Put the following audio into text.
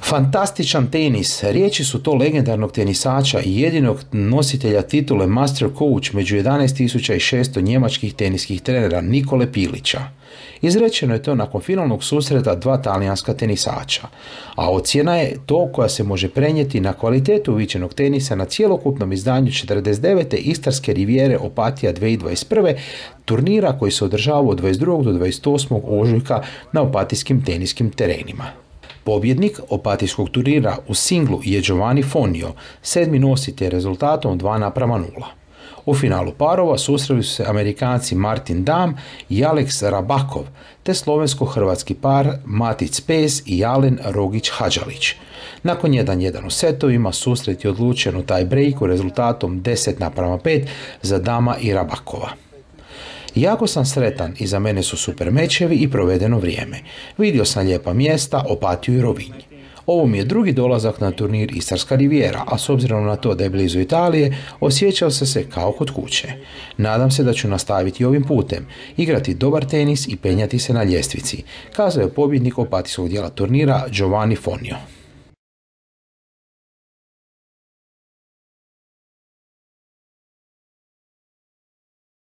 Fantastičan tenis. Riječi su to legendarnog tenisača i jedinog nositelja titule Master Coach među 11.600 njemačkih teniskih trenera Nikole Pilića. Izrečeno je to nakon finalnog susreta dva talijanska tenisača, a ocjena je to koja se može prenijeti na kvalitetu uviđenog tenisa na cjelokupnom izdanju 49. Istarske rivijere Opatija 2021. turnira koji se održavao od 22. do 28. ožujka na opatijskim teniskim terenima. Pobjednik opatijskog turnira u singlu je Giovanni Fonio, 7. nositelj rezultatom 2:0. U finalu parova susreli su se Amerikanci Martin Dam i Alex Rabakov, te slovensko-hrvatski par Matic Pes i Alen Rogić-Hadžalić. Nakon 1:1 u setovima susret je odlučen u taj breaku rezultatom 10:5 za Dama i Rabakova. Jako sam sretan, iza mene su super mečevi i provedeno vrijeme. Vidio sam lijepa mjesta, Opatiju i Rovinj. Ovo mi je drugi dolazak na turnir Istarska rivijera, a s obzirom na to da je blizu Italije, osjećao sam se kao kod kuće. Nadam se da ću nastaviti ovim putem, igrati dobar tenis i penjati se na ljestvici, kazao je pobjednik opatijskog dijela turnira Giovanni Fonio.